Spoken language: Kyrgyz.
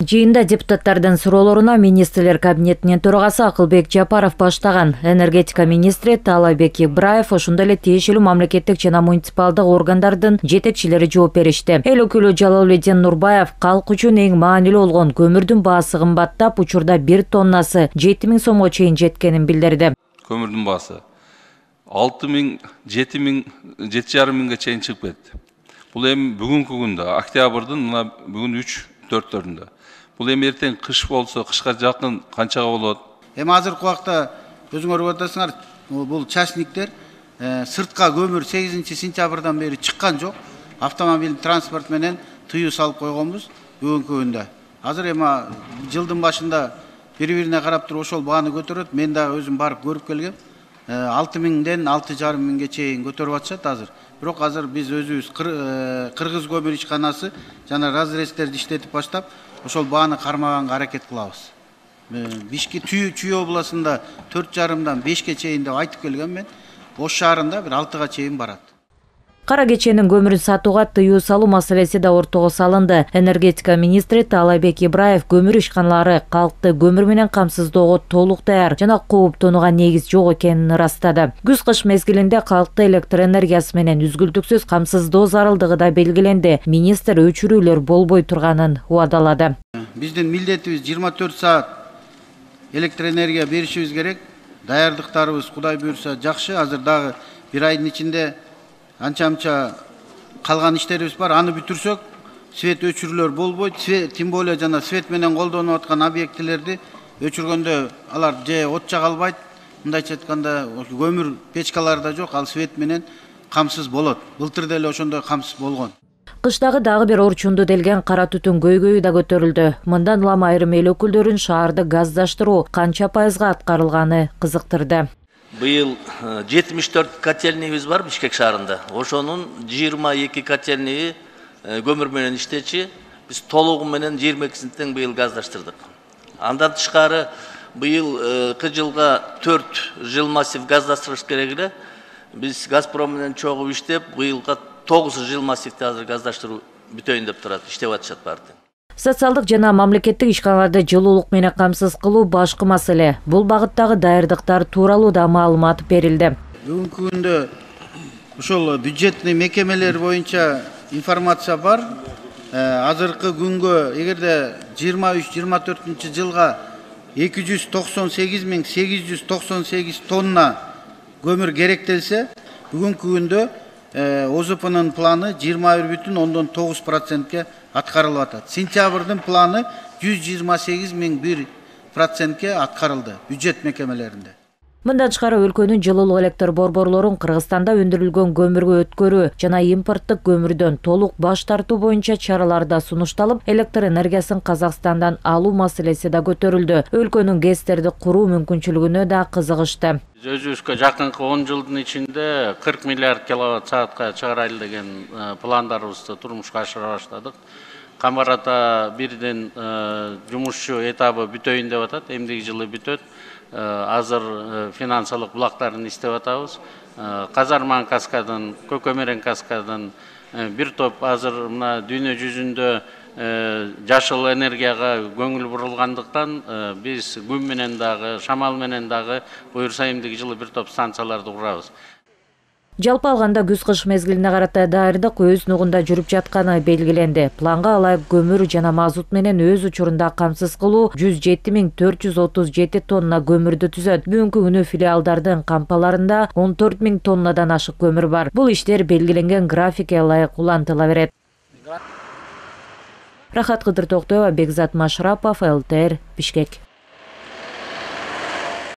Жыйында депутаттардын суроолоруна министрлер кабинетинин төрагасы Акылбек Жапаров баштаган энергетика министри Таалайбек Ибраев, ошондой эле тиешелүү мамлекеттик жана муниципалдык органдардын жетекчилери жооп беришти. Эл өкүлү Жалалбек Нурбаев калк үчүн эң маанилүү болгон көмүрдүн баасы кымбаттап, учурда 1 тоннасы 7000 сомго чейин жеткенин билдирди. Көмүрдүн баасы 6000, 7000, 7500 чейин чыгып кетти. Бул эми бүгүнкү күндө, октябрдын мына бүгүн 3-4-төрүндө. Бул эми эртең кыш болсо, кышка жакын канчага болот? Эми азыркы убакта өзүңөр көрүп атасыңар, бул частниктер сыртка көмүр 8-сентябрдан бери чыккан жок. Автомобиль транспорт менен тыюу салып койгонбуз бүгүнкү күндө. Азыр эми жылдын башында бири-бирине карап туруп ошол бааны көтөрөт. Мен дагы өзүм барып көрүп келгем. 6000ден 6500 чейин көтөрүп атышат азыр. Бирок азыр биз өзүбүз Кыргыз көмүр ишканасы жана разрезтерди иштетип баштап, ошол бааны кармаганга аракет кылабыз. Бишке Чүй областында 4,5-дан 5ке чейин деп айтып келгем мен. Ош шаарында бир 6га чейин барат. Кара кеченин көмүрүн сатууга тыюу салуу маселеси да ортого салынды. Энергетика министри Таалайбек Ибраев көмүр ишканалары калкты көмүр менен камсыздоого толук даяр жана кооптонууга негиз жок экенин ырастады. Күз-кыш мезгилинде калкты электр энергиясы менен үзгүлтүксүз камсыздоо зарылдыгы да белгиленди. Министр өчүрүүлөр болбой турганын убадалады. Биздин милдетибиз 24 саат электр энергия беришибиз керек. Даярдыктарыбыз Кудай буйрса жакшы. Азыр дагы бир айдын ичинде анча калган иштерибиз бар. Аны бүтүрсөк, свет өчүрүүлөр болбойт. Тем более жана свет менен колдонуп аткан объектилерди өчүргөндө алар же от жага албайт. Мындайча айтканда, көмүр печкалары да жок, ал свет менен камсыз болот. Былтыр деле ошондой камсыз болгон. Кыштагы дагы бир орчунду делген кара түтүн көйгөйү да көтөрүлдү. Мындан улам айрым эл өкүлдөрүн шаарды газдаштыруу канча пайызга аткарылганы кызыктырды. Быйыл 74 котельныйыбыз бар Бишкек шаарында. Ошонун 22 котельныйы көмүр менен иштечи. Биз толугу менен 22-син тең быйыл газдаштырдык. Андан тышкары быйыл жылга 4 жыл массив газдаштырыш керек эле. Биз Газпром менен чогуу иштеп, быйылга 9 жыл массивди азыр газдаштыруу бүтөйүн деп турат, иштеп атышат баары. Социалдык жана мамлекеттик ишканаларды жылуулук менен камсыз кылуу башкы маселе. Бул багыттагы даярдыктар тууралуу да маалымат берилди. Бүгүнкү күндө ошол бюджетный мекемелер боюнча информация бар. Азыркы күнгө эгерде 23-24 жылга 298.898 тонна көмүр керектелсе, бүгүнкү күндө ОЗПнын планы 21,9%ке аткарылып атат. Сентябрдын планы 128.001%ке аткарылды бюджет мекемелеринде. Мындан тышкары өлкөнүн жылуулук электр борборлорун Кыргызстанда өндүрүлгөн көмүргө өткөрүү жана импорттук көмүрдөн толук баш тартуу боюнча чаралар да сунушталып, электр энергиясын Казакстандан алуу маселеси да көтөрүлдү. Өлкөнүн ГЭСтерди куруу мүмкүнчүлүгүнө да кызыгышты. Өзүбүзгө жакынкы 10 жылдын ичинде 40 миллиард киловатт саатка чыгарайлы деген пландарыбызды турмушка ашыра баштадык. Камарата бирден жумушчу этабы бүтөйүн деп атат, эмдиги жылы бүтөт. Азыр финансылык булактарын издеп атабыз. Казарман каскадын, Көкөмерен каскадын бир топ азыр мына дүйнө жүзүндө жашыл энергияга көңүл бурулгандыктан биз күн менен дагы, шамал менен дагы буюрса эмдиги жылы бир топ станцияларды курабыз. Жалпы алганда күз-кыш мезгилине карата даярдык өз нугунда жүрүп жатканы белгиленди. Планга ылайык көмүр жана мазут менен өз учурунда камсыз кылуу 107.437 тонна көмүрдү түзөт. Бүгүнкү күнү филиалдардын кампаларында 14.000 тоннадан ашык көмүр бар. Бул иштер белгиленген графикке ылайык улантыла берет. Рахат Кыдыр Токтоева, Бекзат Машрапов, ЛТР, Бишкек.